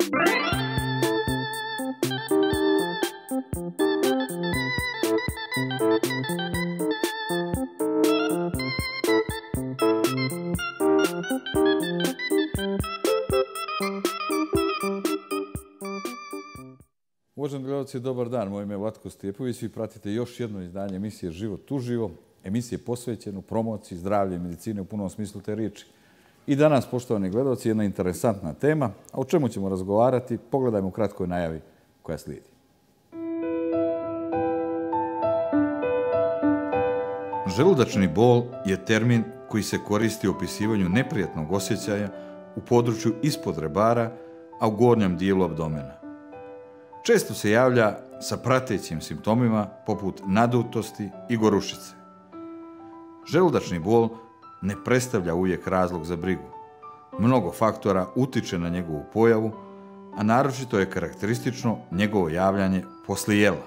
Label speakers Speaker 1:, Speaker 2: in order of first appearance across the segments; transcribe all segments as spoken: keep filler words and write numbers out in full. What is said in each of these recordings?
Speaker 1: Uvaženi gledalci, dobar dan. Moje ime je Vlatko Stjepović. Vi pratite još jedno izdanje emisije Život uživo, emisije posvećenu promociji zdravlja i medicine u punom smislu te riječi. I danas, poštovani gledalci, jedna interesantna tema. A o čemu ćemo razgovarati? Pogledajmo u kratkoj najavi koja slijedi. Želudačni bol je termin koji se koristi u opisivanju neprijatnog osjećaja u području ispod rebara, a u gornjem dijelu abdomena. Često se javlja sa pratećim simptomima poput nadutosti i gorušice. Želudačni bol ne predstavlja uvijek razlog za brigu. Mnogo faktora utiče na njegovu pojavu, a naročito je karakteristično njegovo javljanje poslije jela.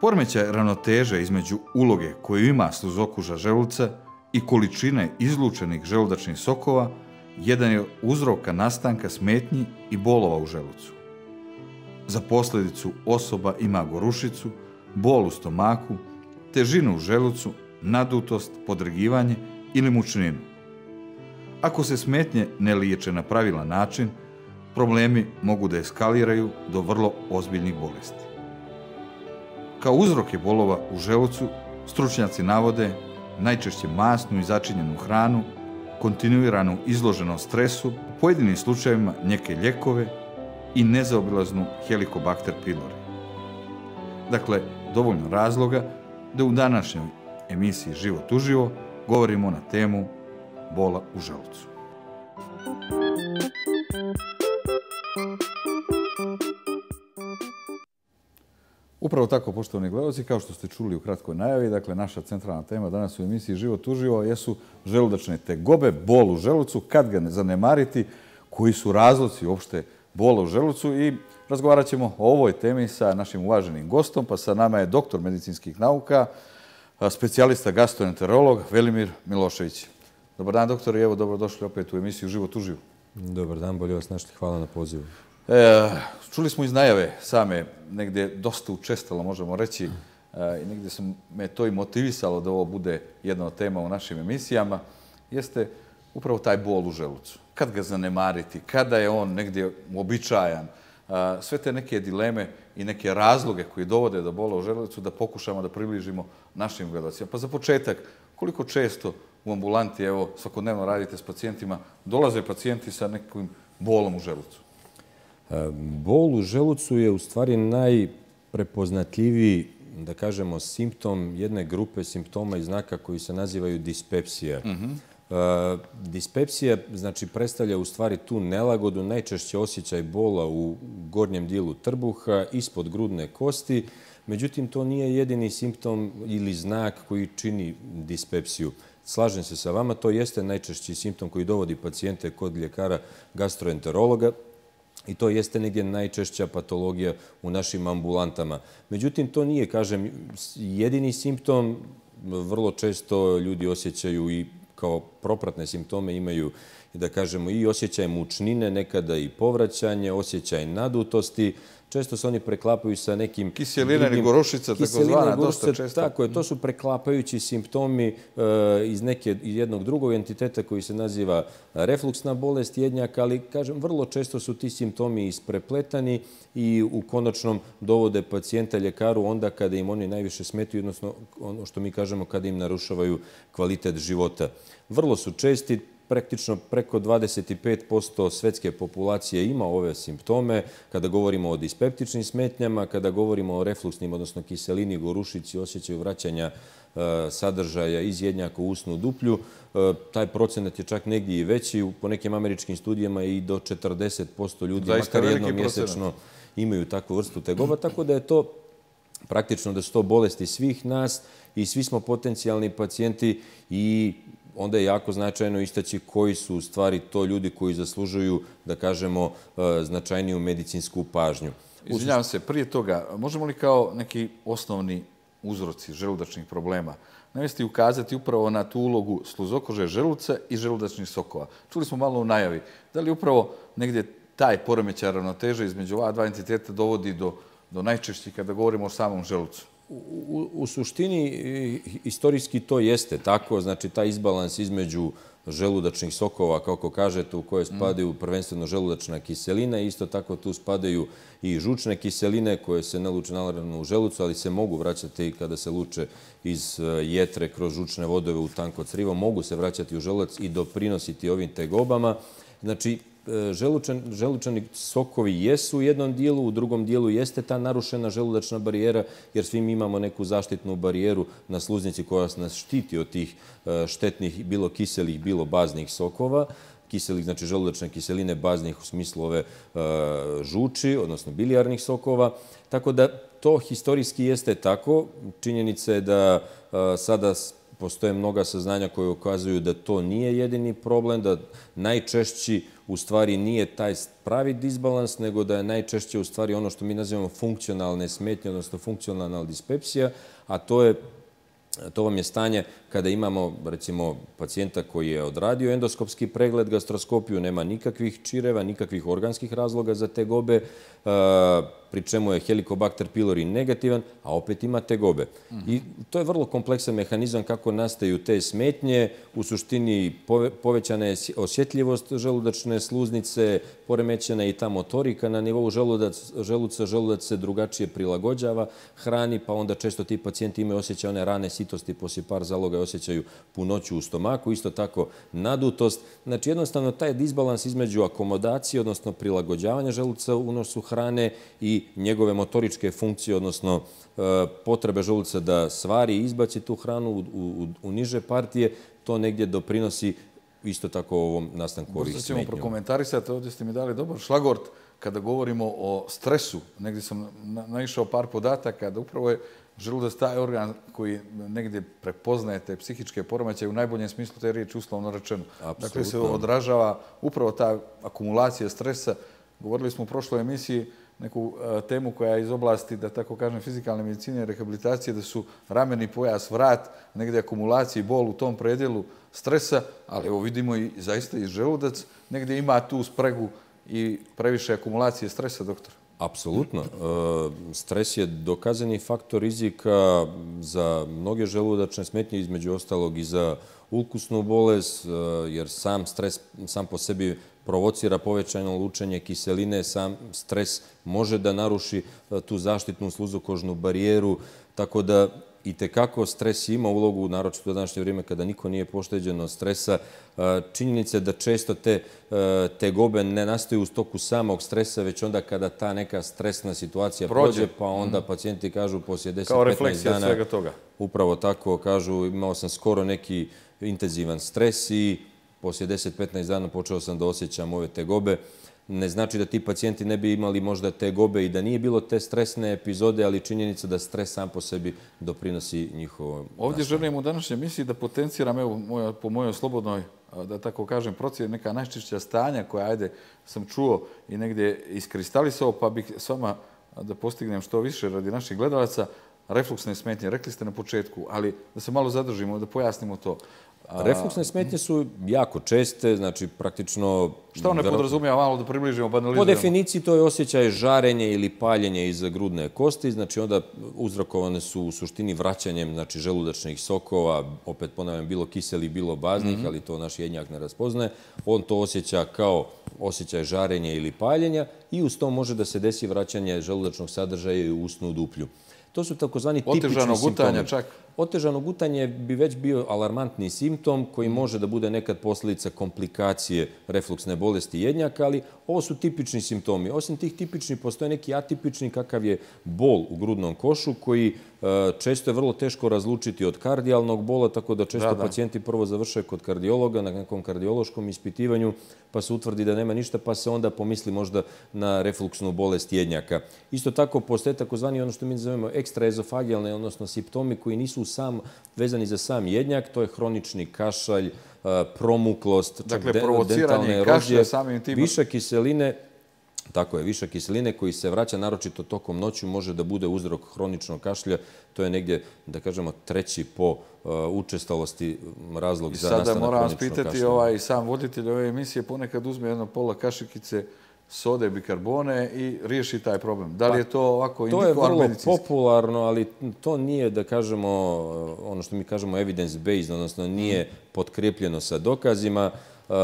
Speaker 1: Poremećaj ravnoteže između uloge koju ima sluzokuža želuca i količine izlučenih želudačnih sokova jedan je uzroka nastanka smetnji i bolova u želucu. Za posljedicu osoba ima gorušicu, bol u stomaku, težinu u želucu, nadutost, podrigivanje ili mučninu. Ako se smetnje ne liječe na pravilan način, problemi mogu da eskaliraju do vrlo ozbiljnih bolesti. Kao uzroke bolova u želucu stručnjaci navode najčešće masnu i začinjenu hranu, kontinuiranu izloženost stresu, u pojedinim slučajevima neke lijekove i nezaobilaznu helikobakter pylori. Dakle, dovoljno razloga da u današnjoj emisiji Život uživo govorimo na temu bola u želucu. Upravo tako, poštovani gledalci, kao što ste čuli u kratkoj najavi, dakle, naša centralna tema danas u emisiji Život uživo jesu želudačne tegobe, bol u želucu, kad ga ne zanemariti, koji su razlozi uopšte bola u želucu, i razgovarat ćemo o ovoj temi sa našim uvaženim gostom, pa sa nama je doktor medicinskih nauka, specijalista gastroenterolog Velimir Milošević. Dobar dan, doktor, i evo, dobrodošli opet u emisiju Život uživo.
Speaker 2: Dobar dan, bolje vas našli, hvala na pozivu.
Speaker 1: E, čuli smo iz najave same, negdje dosta učestalo možemo reći, e, i negdje sam me to i motivisalo da ovo bude jedna od tema u našim emisijama, jeste upravo taj bol u želucu. Kad ga zanemariti, kada je on negdje uobičajan, sve te neke dileme i neke razloge koji dovode do bola u želucu da pokušamo da približimo našim gledalcima. Pa za početak, koliko često u ambulanti, evo, svakodnevno radite s pacijentima, dolaze pacijenti sa nekim bolom u želucu?
Speaker 2: Bol u želucu je u stvari najprepoznatljiviji, da kažemo, simptom jedne grupe simptoma i znaka koji se nazivaju dispepsija. Mm-hmm. Dispepsija, znači, predstavlja u stvari tu nelagodu, najčešće osjećaj bola u gornjem dijelu trbuha, ispod grudne kosti. Međutim, to nije jedini simptom ili znak koji čini dispepsiju. Slažem se sa vama, to jeste najčešći simptom koji dovodi pacijente kod ljekara gastroenterologa i to jeste negdje najčešća patologija u našim ambulantama. Međutim, to nije, kažem, jedini simptom. Vrlo često ljudi osjećaju i kao propratne simptome imaju, da kažemo, i osjećaj mučnine, nekada i povraćanje, osjećaj nadutosti. Često se oni preklapaju sa nekim...
Speaker 1: Kiselina ili gorušica, tako zvana, dosta često.
Speaker 2: Tako je, to su preklapajući simptomi iz neke, jednog drugog entiteta koji se naziva refluksna bolest jednjaka, ali, kažem, vrlo često su ti simptomi isprepletani i u konačnom dovode pacijenta ljekaru onda kada im oni najviše smetaju, odnosno ono što mi kažemo kada im narušavaju kvalitet života. Vrlo su česti, praktično preko dvadeset pet posto svetske populacije ima ove simptome. Kada govorimo o dispeptičnim smetnjama, kada govorimo o refluksnim, odnosno kiselini, gorušici, osjećaju vraćanja sadržaja iz jednjaka u usnu duplju, taj procenat je čak negdje i veći. Po nekim američkim studijama i do četrdeset posto ljudi, makar jednom mjesečno, imaju takvu vrstu tegoba, tako da je to praktično da su to bolesti svih nas i svi smo potencijalni pacijenti i onda je jako značajno istaći koji su u stvari to ljudi koji zaslužuju, da kažemo, značajniju medicinsku pažnju.
Speaker 1: Izvinjavam se, prije toga, možemo li kao neki osnovni uzroci želudačnih problema navesti i ukazati upravo na tu ulogu sluzokože želuca i želudačnih sokova? Čuli smo malo u najavi. Da li upravo negdje taj poremećaj ravnoteže između ova dva entiteta dovodi do, do najčešćih kada govorimo o samom želucu?
Speaker 2: U, u suštini, istorijski to jeste tako, znači taj izbalans između želudačnih sokova, kako kažete, u koje spadaju prvenstveno želudačna kiselina i isto tako tu spadaju i žučne kiseline koje se ne luče naravno u želucu, ali se mogu vraćati kada se luče iz jetre kroz žučne vodove u tanko crivo, mogu se vraćati u želudac i doprinositi ovim tegobama. Znači, Želučan, želučani sokovi jesu u jednom dijelu, u drugom dijelu jeste ta narušena želudačna barijera, jer svi mi imamo neku zaštitnu barijeru na sluznici koja nas štiti od tih štetnih, bilo kiselih, bilo baznih sokova. Kiselih, znači želudačne kiseline, baznih u smislu ove žuči, odnosno bilijarnih sokova. Tako da to historijski jeste tako. Činjenica je da sada postoje mnoga saznanja koje ukazuju da to nije jedini problem, da najčešći u stvari nije taj pravi disbalans, nego da je najčešće u stvari ono što mi nazivamo funkcionalne smetnje, odnosno funkcionalna dispepsija, a to je To vam je stanje kada imamo, recimo, pacijenta koji je odradio endoskopski pregled, gastroskopiju, nema nikakvih čireva, nikakvih organskih razloga za tegobe, pri čemu je Helicobacter pylori negativan, a opet ima tegobe. I to je vrlo kompleksan mehanizam kako nastaju te smetnje. U suštini povećana je osjetljivost želudačne sluznice, poremećena je i ta motorika na nivou želuca, želudac se drugačije prilagođava hrani, pa onda često ti pacijenti imaju osjećaj one rane sitosti, poslije par zaloga osjećaju punoću u stomaku, isto tako nadutost. Znači, jednostavno, taj disbalans između akomodacije, odnosno prilagođavanja želuca unosu hrane i njegove motoričke funkcije, odnosno potrebe želuca da stvari i izbaci tu hranu u, u, u niže partije, to negdje doprinosi isto tako ovom nastanku ovih smetnjama.
Speaker 1: Možda ćemo prokomentarisati, ovdje ste mi dali dobar šlagort, kada govorimo o stresu. Negdje sam naišao par podataka da upravo je želudac taj organ koji negdje prepoznaje te psihičke poremećaje u najboljem smislu te riječi, uslovno rečeno.
Speaker 2: Apsolutno.
Speaker 1: Dakle, se odražava upravo ta akumulacija stresa. Govorili smo u prošloj emisiji neku temu koja je iz oblasti, da tako kažem, fizikalne medicine i rehabilitacije, da su rameni pojas, vrat, negdje akumulacija i bol u tom predjelu stresa, ali evo vidimo i zaista i želudac negdje ima tu spregu i previše akumulacije stresa, doktor.
Speaker 2: Apsolutno. Stres je dokazani faktor rizika za mnoge želudačne smetnje, između ostalog i za ulkusnu bolest, jer sam stres sam po sebi provocira povećano lučenje kiseline, sam stres može da naruši tu zaštitnu sluzokožnu barijeru, tako da i tekako stres ima ulogu, naročito u današnje vrijeme kada niko nije pošteđen od stresa. Činjenica je da često te tegobe ne nastaju u toku samog stresa, već onda kada ta neka stresna situacija prođe, pa onda pacijenti kažu poslije deset do petnaest dana,
Speaker 1: svega toga.
Speaker 2: Upravo tako kažu, imao sam skoro neki intenzivan stres i poslije deset do petnaest dana počeo sam da osjećam ove tegobe. Ne znači da ti pacijenti ne bi imali možda tegobe i da nije bilo te stresne epizode, ali činjenica da stres sam po sebi doprinosi njihovom.
Speaker 1: Ovdje želim u današnjoj emisiji da potenciram, evo, moja, po mojoj slobodnoj, da tako kažem, procjeni neka najčešća stanja koja, ajde, sam čuo i negdje iskristalisao, pa bih s vama da postignem što više radi naših gledalaca. Refluksne smetnje, rekli ste na početku, ali da se malo zadržimo, da pojasnimo to.
Speaker 2: Refluksne smetnje su jako česte, znači praktično...
Speaker 1: Šta one podrazumijeva, malo da približimo, banaliziramo?
Speaker 2: Po definiciji to je osjećaj žarenja ili paljenja iza grudne kosti, znači onda uzrokovane su u suštini vraćanjem znači, želudačnih sokova, opet ponavljam, bilo kiseli, bilo baznih, ali to naš jednjak ne raspoznaje. On to osjeća kao osjećaj žarenja ili paljenja i uz to može da se desi vraćanje želudačnog sadržaja u usnu duplju. To su takozvani tipični simptomi.
Speaker 1: Otežano gutanje čak?
Speaker 2: Otežano gutanje bi već bio alarmantni simptom koji može da bude nekad posljedica komplikacije refluksne bolesti jednjaka, ali ovo su tipični simptomi. Osim tih tipičnih, postoje neki atipični kakav je bol u grudnom košu koji često je vrlo teško razlučiti od kardijalnog bola, tako da često pacijenti prvo završaju kod kardiologa na nekom kardiološkom ispitivanju, pa se utvrdi da nema ništa, pa se onda pomisli možda na refluksnu bolest jednjaka. Isto tako postoje takozvani ono što mi zovemo ekstraezofagijalne, odnosno simptomi koji nisu sam vezani za sam jednjak, to je hronični kašalj, promuklost,
Speaker 1: dakle, provociranje kašlja samim tim.
Speaker 2: Višak kiseline, tako je, višak kiseline koji se vraća naročito tokom noću može da bude uzrok hroničnog kašlja. To je negdje, da kažemo, treći po učestalosti razlog za nastanak hroničnog kašlja.
Speaker 1: I sada moram vas pitati, ovaj, sam voditelj ove emisije ponekad uzme jedno pola kašikice sode, bikarbone i riješi taj problem. Da li je to ovako
Speaker 2: To je
Speaker 1: indikovan
Speaker 2: vrlo
Speaker 1: medicinski?
Speaker 2: popularno, ali to nije, da kažemo, ono što mi kažemo evidence-based, odnosno nije potkrepljeno sa dokazima. Uh,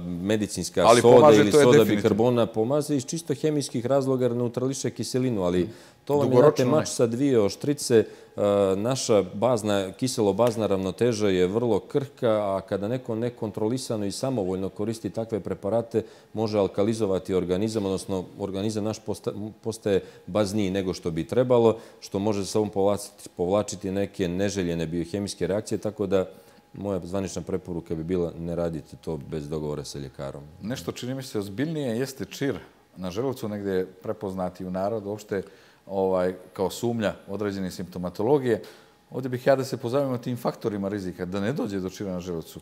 Speaker 2: medicinska
Speaker 1: Ali
Speaker 2: soda
Speaker 1: pomaže,
Speaker 2: ili
Speaker 1: to je
Speaker 2: soda
Speaker 1: definitivno.
Speaker 2: bikarbona pomaže iz čisto hemijskih razloga jer neutrališe kiselinu, ali to vam je
Speaker 1: Dugoročno
Speaker 2: znate, mač
Speaker 1: ne.
Speaker 2: sa dvije oštrice. Uh, naša bazna, kiselo-bazna ravnoteža je vrlo krhka, a kada neko nekontrolisano i samovoljno koristi takve preparate, može alkalizovati organizam, odnosno organizam naš posta, postaje bazniji nego što bi trebalo, što može sa sobom povlačiti, povlačiti neke neželjene biohemijske reakcije, tako da moja zvanična preporuka bi bila ne radite to bez dogovora sa ljekarom.
Speaker 1: Nešto čini mi se ozbiljnije jeste čir na želucu, negdje je prepoznati u narodu uopšte ovaj, kao sumnja određene simptomatologije. Ovdje bih ja da se pozabavimo tim faktorima rizika, da ne dođe do čira na želucu.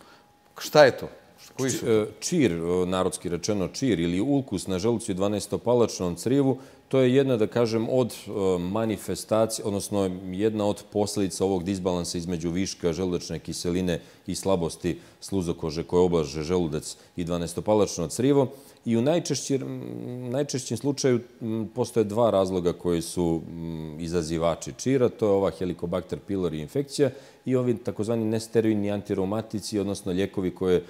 Speaker 1: Šta je to? Koji su to?
Speaker 2: Čir, narodski rečeno čir ili ulkus na želucu i dvanaestopalačnom crijevu, to je jedna, da kažem, od manifestacije, odnosno jedna od posljedica ovog disbalansa između viška želudačne kiseline i slabosti sluzokože koje oblaže želudac i dvanaestopalačno crijevo. I u najčešćem slučaju postoje dva razloga koji su izazivači čira. To je ova Helicobacter pylori infekcija i ovi takozvani nesteroidni antireumatici, odnosno lijekovi koje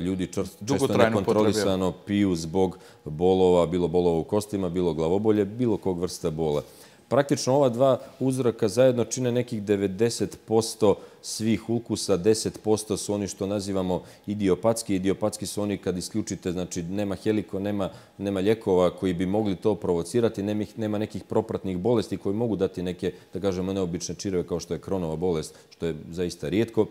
Speaker 2: ljudi često nekontrolisano piju zbog bolova, bilo bolova u kostima, bilo glavobolje, bilo kog vrsta bola. Praktično ova dva uzroka zajedno čine nekih devedeset posto svih ulkusa, deset posto su oni što nazivamo idiopatski. Idiopatski su oni kad isključite, znači nema heliko, nema, nema lijekova koji bi mogli to provocirati, nema nekih propratnih bolesti koji mogu dati neke, da kažemo, neobične čireve kao što je Kronova bolest, što je zaista rijetko.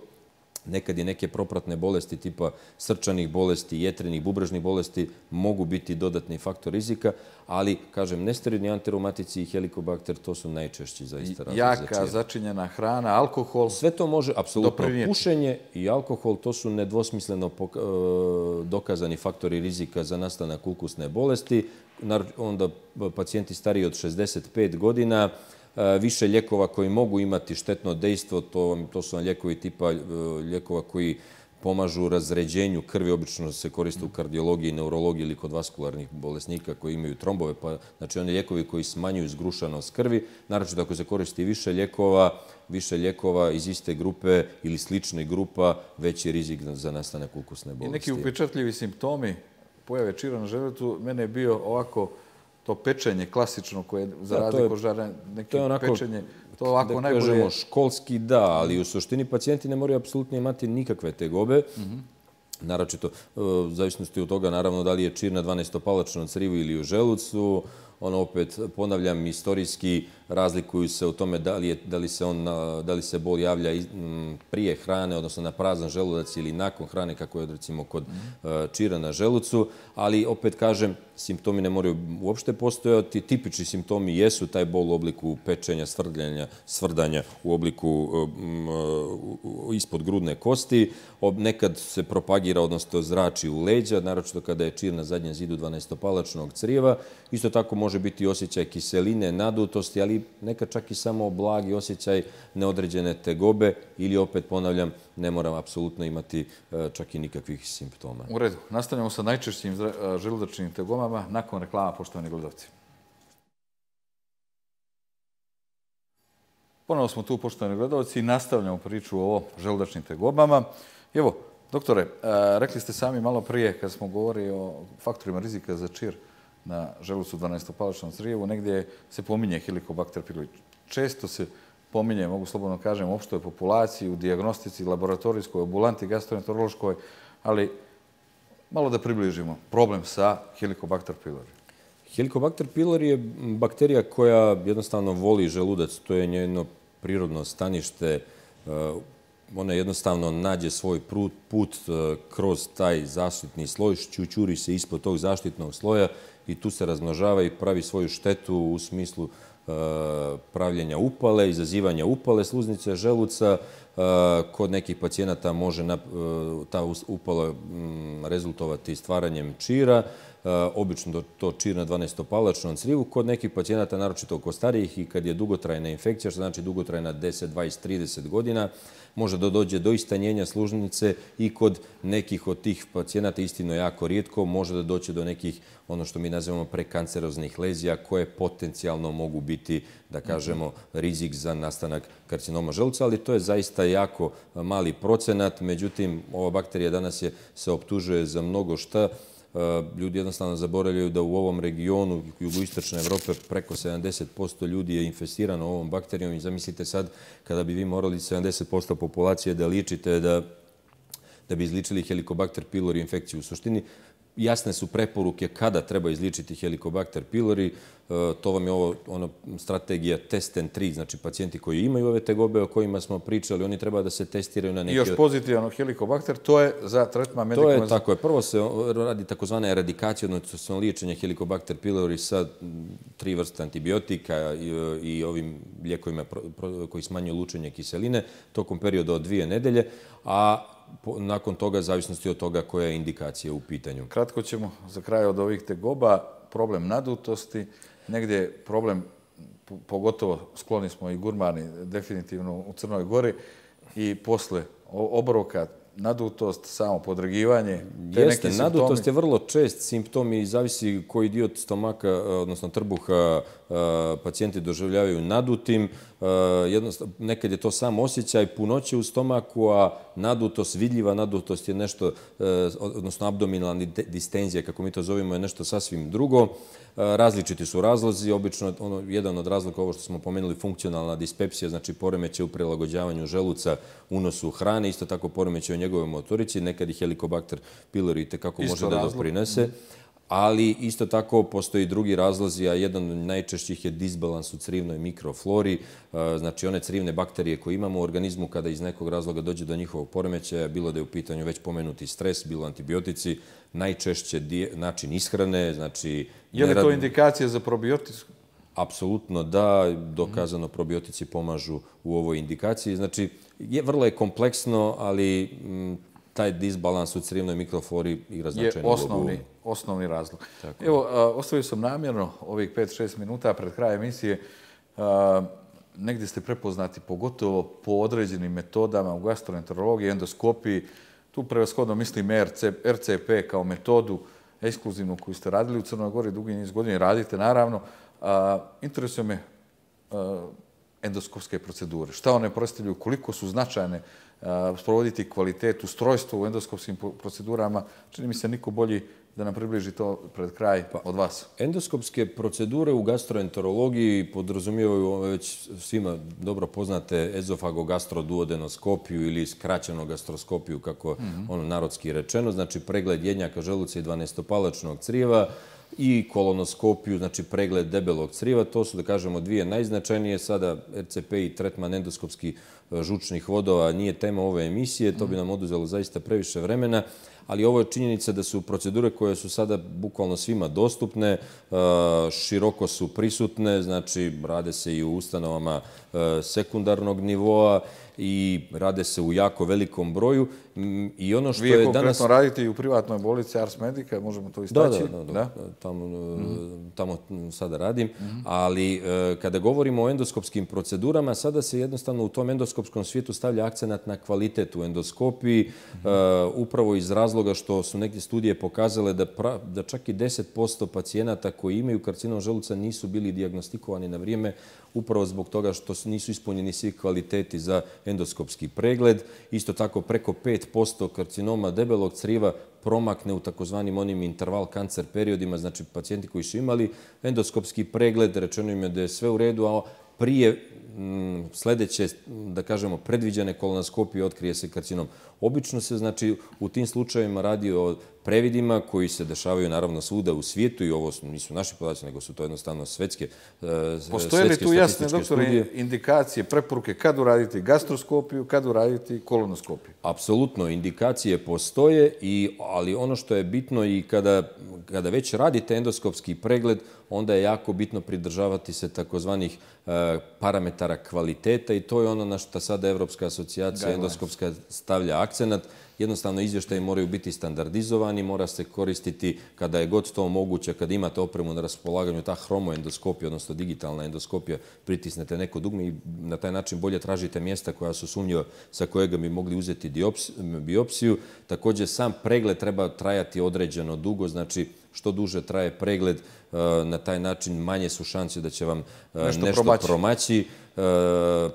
Speaker 2: Nekad i neke propratne bolesti tipa srčanih bolesti, jetrenih, bubrežnih bolesti mogu biti dodatni faktor rizika, ali, kažem, nesteroidni antireumatici i Helicobacter, to su najčešći zaista razlozi za čir.
Speaker 1: Jaka, začinjena hrana, alkohol.
Speaker 2: Sve to može, apsolutno. Pušenje i alkohol, to su nedvosmisleno dokazani faktori rizika za nastanak ulkusne bolesti. Onda pacijenti stariji od šezdeset pet godina, više lijekova koji mogu imati štetno dejstvo, to, to su lijekovi tipa lijekova koji pomažu razređenju krvi, obično se koriste u kardiologiji, neurologiji ili kod vaskularnih bolesnika koji imaju trombove, pa znači oni lijekovi koji smanjuju zgrušanost krvi, naročito ako se koristi više lijekova, više lijekova iz iste grupe ili slične grupa, veći rizik za nastanak ulkusne bolesti.
Speaker 1: I neki upečatljivi simptomi pojave čira na želucu, mene je bio ovako to pečenje klasično koje za razliku od žara, neke pečenje, to ovako najbolje...
Speaker 2: Da kažemo školski da, ali u suštini pacijenti ne moraju apsolutno imati nikakve tegobe. Naročito, u zavisnosti od toga, naravno, da li je čir na dvanaestopalačnom crijevu ili u želucu. Ono, opet, ponavljam, istorijski razlikuju se u tome da li, je, da li, se, on, da li se bol javlja prije hrane, odnosno na prazan želudac ili nakon hrane, kako je, recimo, kod čira na želucu. Ali, opet kažem, simptomi ne moraju uopšte postojati. Tipični simptomi jesu taj bol u obliku pečenja, svrdljanja, svrdanja u obliku ispod grudne kosti. Nekad se propagira, odnosno zrači u leđa, naročito kada je čir na zadnjem zidu dvanaestopalačnog crijeva. Isto tako može biti osjećaj kiseline, nadutosti, ali nekad čak i samo blagi osjećaj neodređene tegobe ili, opet ponavljam, ne moram apsolutno imati čak i nikakvih simptoma.
Speaker 1: U redu. Nastavljamo sa najčešćim želudačnim tegomama nakon reklama, poštovani gledalci. Ponovo smo tu, poštovani gledalci, i nastavljamo priču o želudačnim tegobama. Evo, doktore, rekli ste sami malo prije, kad smo govorili o faktorima rizika za čir na želucu dvanaestopalačnom crijevu, negdje se pominje Helicobacter pylori. Često se pominje, mogu slobodno kažem, u opštoj populaciji, u dijagnostici, laboratorijskoj, ambulanti, gastroenterološkoj, ali malo da približimo problem sa Helicobacter pylori.
Speaker 2: Helicobacter pylori je bakterija koja jednostavno voli želudac. To je njeno prirodno stanište. Ona jednostavno nađe svoj put kroz taj zaštitni sloj, šćućuri se ispod tog zaštitnog sloja i tu se razmnožava i pravi svoju štetu u smislu pravljenja upale, izazivanja upale sluznice želuca. Kod nekih pacijenata može ta upala rezultovati stvaranjem čira. obično to čir na dvanaestopalačnom crijevu. Kod nekih pacijenata, naročito kod starijih i kad je dugotrajna infekcija, što znači dugotrajna deset, dvadeset, trideset godina, može da dođe do istanjenja sluznice i kod nekih od tih pacijenata, istino jako rijetko, može da doći do nekih, ono što mi nazivamo prekanceroznih lezija, koje potencijalno mogu biti, da kažemo, rizik za nastanak karcinoma želuca, ali to je zaista jako mali procenat. Međutim, ova bakterija danas je, se optužuje za mnogo šta. Ljudi jednostavno zaboravljaju da u ovom regionu jugoistočne Evrope preko sedamdeset posto ljudi je infestirano ovom bakterijom i zamislite sad kada bi vi morali sedamdeset posto populacije da ličite da, da bi izličili Helicobacter pylori infekciju. U suštini jasne su preporuke kada treba izličiti Helicobacter pylori. To vam je ovo ono, strategija test and treat, znači pacijenti koji imaju ove tegobe o kojima smo pričali, oni treba da se testiraju na neke...
Speaker 1: I još pozitivan Helicobacter, to je za tretman medicinalnog...
Speaker 2: To je tako je. Prvo se radi takozvana eradikacija, odnosno liječenje Helicobacter pylori sa tri vrste antibiotika i, i ovim lijekovima koji smanjuju lučenje kiseline tokom perioda od dvije nedelje, a nakon toga, zavisnosti od toga koja je indikacija u pitanju.
Speaker 1: Kratko ćemo za kraj od ovih tegoba, problem nadutosti, negdje problem, pogotovo skloni smo i gurmani, definitivno u Crnoj Gori, i posle obroka, nadutost, samo podregivanje.
Speaker 2: Jeste, nadutost je vrlo čest simptom i zavisi koji dio stomaka, odnosno trbuha, pacijenti doživljavaju nadutim. Nekad je to sam osjećaj punoće u stomaku, a nadutost, vidljiva nadutost je nešto, odnosno abdominalna distenzija, kako mi to zovemo, je nešto sasvim drugo. Različiti su razlozi. Obično ono, jedan od razloga, ovo što smo pomenuli, funkcionalna dispepsija, znači poremećaj u prilagođavanju želuca unosu hrane, isto tako poremećaj u njegovoj motorici. Nekad i Helicobacter pylori itekako može da doprinese. Ali isto tako postoji drugi razlozi, a jedan od najčešćih je disbalans u crivnoj mikroflori. Znači one crivne bakterije koje imamo u organizmu kada iz nekog razloga dođe do njihovog poremećaja, bilo da je u pitanju već pomenuti stres, bilo antibiotici, najčešće način ishrane. Znači,
Speaker 1: je li to indikacija za probiotiku?
Speaker 2: Apsolutno da, dokazano probiotici pomažu u ovoj indikaciji. Znači, je, vrlo je kompleksno, ali m, taj disbalans u crivnoj mikroflori igra značajnu ulogu.
Speaker 1: Je osnovni razlog. Tako. Evo, a, ostavio sam namjerno ovih pet šest minuta pred krajem emisije. A, negdje ste prepoznati pogotovo po određenim metodama u gastroenterologiji, endoskopiji. Tu prevashodno mislim R C P kao metodu ekskluzivnu koju ste radili u Crnoj Gori dugi niz godina i radite naravno. A, interesuje me a, endoskopske procedure. Šta one predstavljaju, koliko su značajne, a, sprovoditi kvalitet, ustrojstvo u endoskopskim procedurama. Čini mi se niko bolji da nam približi to pred kraj od vas.
Speaker 2: Endoskopske procedure u gastroenterologiji podrazumijevaju već svima dobro poznate ezofagogastroduodenoskopiju ili skraćenu gastroskopiju, kako mm-hmm. ono narodski rečeno, znači pregled jednjaka želuca i dvanaestopalačnog crijeva, i kolonoskopiju, znači pregled debelog crijeva. To su, da kažemo, dvije najznačajnije. Sada R C P i tretman endoskopski žučnih vodova nije tema ove emisije, to bi nam oduzelo zaista previše vremena, ali ovo je činjenica da su procedure koje su sada bukvalno svima dostupne, široko su prisutne, znači rade se i u ustanovama sekundarnog nivoa i rade se u jako velikom broju. I ono što
Speaker 1: Vi
Speaker 2: je
Speaker 1: je konkretno
Speaker 2: danas...
Speaker 1: radite i u privatnoj bolnici Ars Medica, možemo to istaći?
Speaker 2: Da, da, da, da. Tamo, mm-hmm. tamo sada radim. Mm-hmm. Ali kada govorimo o endoskopskim procedurama, sada se jednostavno u tom endoskopskom svijetu stavlja akcenat na kvalitet u endoskopiji, mm-hmm. uh, upravo iz razloga što su neke studije pokazale da, pra, da čak i deset posto pacijenata koji imaju karcinom želuca nisu bili dijagnostikovani na vrijeme, upravo zbog toga što nisu ispunjeni svi kvaliteti za endoskopski pregled. Isto tako preko pet posto karcinoma debelog criva promakne u takozvanim onim interval kancer periodima, znači pacijenti koji su imali endoskopski pregled, rečeno im je da je sve u redu, a prije m, sljedeće, da kažemo, predviđene kolonoskopije otkrije se karcinom. Obično se, znači, u tim slučajevima radi o previdima koji se dešavaju naravno svuda u svijetu i ovo nisu naši podaci, nego su to jednostavno svetske statističke studije.
Speaker 1: Postoje li tu jasne, doktore, indikacije, preporuke kad uraditi gastroskopiju, kad uraditi kolonoskopiju?
Speaker 2: Apsolutno, indikacije postoje, i, ali ono što je bitno i kada, kada već radite endoskopski pregled, onda je jako bitno pridržavati se takozvanih uh, parametara kvaliteta i to je ono na što sada Evropska asocijacija endoskopska stavlja akcenat. jednostavno izvještaji moraju biti standardizovani, mora se koristiti kada je god to moguće, kada imate opremu na raspolaganju, ta hromoendoskopija, odnosno digitalna endoskopija, pritisnete neko dugme i na taj način bolje tražite mjesta koja su sumnjiva sa kojega bi mogli uzeti biopsiju. Također, sam pregled treba trajati određeno dugo, znači što duže traje pregled, na taj način manje su šanse da će vam nešto, nešto promaći.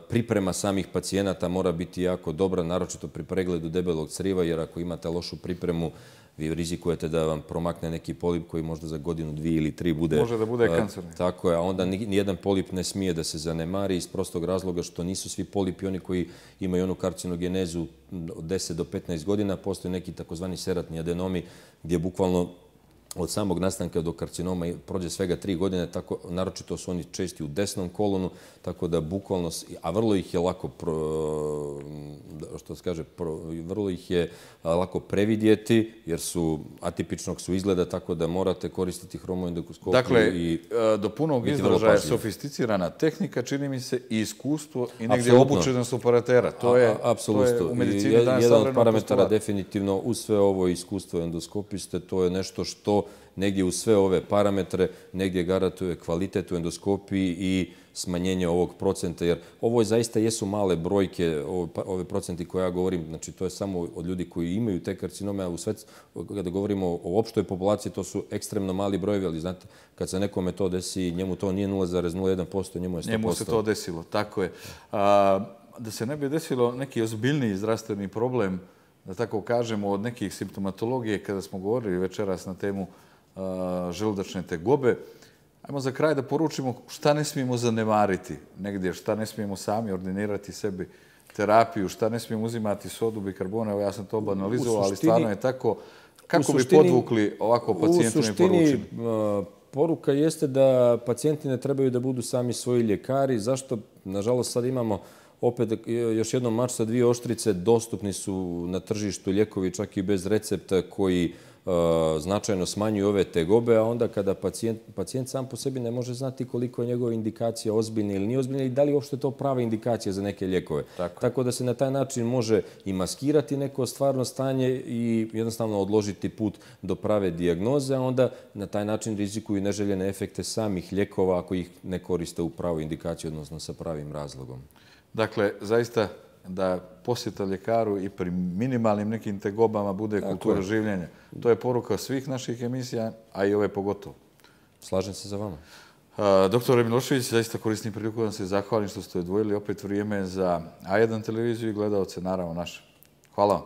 Speaker 2: Priprema samih pacijenata mora biti jako dobra, naročito pri pregledu debelog criva, jer ako imate lošu pripremu, vi rizikujete da vam promakne neki polip koji možda za godinu, dvije ili tri bude...
Speaker 1: Može da bude kancerni.
Speaker 2: Tako je, a onda nijedan polip ne smije da se zanemari iz prostog razloga što nisu svi polipi oni koji imaju onu karcinogenezu od deset do petnaest godina. Postoje neki takozvani seratni adenomi gdje bukvalno od samog nastanka do karcinoma prođe svega tri godine, tako, naročito su oni česti u desnom kolonu, tako da bukvalno, a vrlo ih je lako, što se kaže, vrlo ih je lako previdjeti, jer su atipičnog su izgleda, tako da morate koristiti hromoendoskopiju.
Speaker 1: Dakle, i do punog izražaja sofisticirana tehnika, čini mi se, i iskustvo i negdje obučenost operatera. To je, to je u medicini danas savremenog postulata.
Speaker 2: Jedan od parametara definitivno uz sve ovo iskustvo endoskopiste, to je nešto što negdje u sve ove parametre, negdje garantuje kvalitet u endoskopiji i smanjenje ovog procenta, jer ovo zaista jesu male brojke, ove procenti koje ja govorim, znači to je samo od ljudi koji imaju te karcinome, a u sve, kada govorimo o opštoj populaciji, to su ekstremno mali brojevi, ali znate, kad se nekome to desi, njemu to nije nula zarez nula jedan posto, njemu je sto posto.
Speaker 1: Njemu se to desilo, tako je. Da se ne bi desilo neki ozbiljniji zdravstveni problem, da tako kažemo, od nekih simptomatologije, kada smo govorili večeras na temu želudačne tegobe, ajmo za kraj da poručimo šta ne smijemo zanemariti negdje, šta ne smijemo sami ordinirati sebi terapiju, šta ne smijemo uzimati sodu, bikarbona. Evo, ja sam to banalizovao, ali stvarno je tako. Kako bi podvukli ovako pacijentima i poručili?
Speaker 2: U suštini, poruka jeste da pacijenti ne trebaju da budu sami svoji ljekari. Zašto? Nažalost, sad imamo opet još jednom mač sa dvije oštrice. Dostupni su na tržištu lijekovi čak i bez recepta koji značajno smanjuju ove tegobe, a onda kada pacijent, pacijent sam po sebi ne može znati koliko je njegova indikacija ozbiljna ili nije ozbiljna i da li uopšte to prava indikacija za neke lijekove. Tako. Tako da se na taj način može i maskirati neko stvarno stanje i jednostavno odložiti put do prave dijagnoze, a onda na taj način rizikuju neželjene efekte samih lijekova ako ih ne koriste u pravu indikaciju, odnosno sa pravim razlogom.
Speaker 1: Dakle, zaista da posjeta ljekaru i pri minimalnim nekim tegobama bude kultura življenja. To je poruka svih naših emisija, a i ove pogotovo.
Speaker 2: Slažem se za vama.
Speaker 1: Doktore Milošević, zaista koristim priliku da vam se zahvalim što ste odvojili opet vrijeme za A jedan televiziju i gledalce, naravno naše. Hvala vam.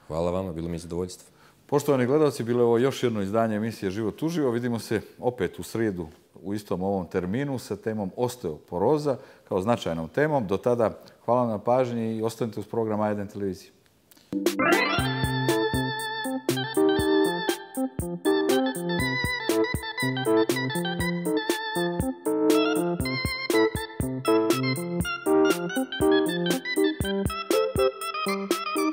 Speaker 2: Hvala vama, bilo mi je zadovoljstvo.
Speaker 1: Poštovani gledalci, bilo je ovo još jedno izdanje emisije Život uživo. Vidimo se opet u srijedu u istom ovom terminu sa temom osteoporoza kao značajnom temom. Do tada hvala na pažnji i ostanite uz program A jedan televizije. Thank you.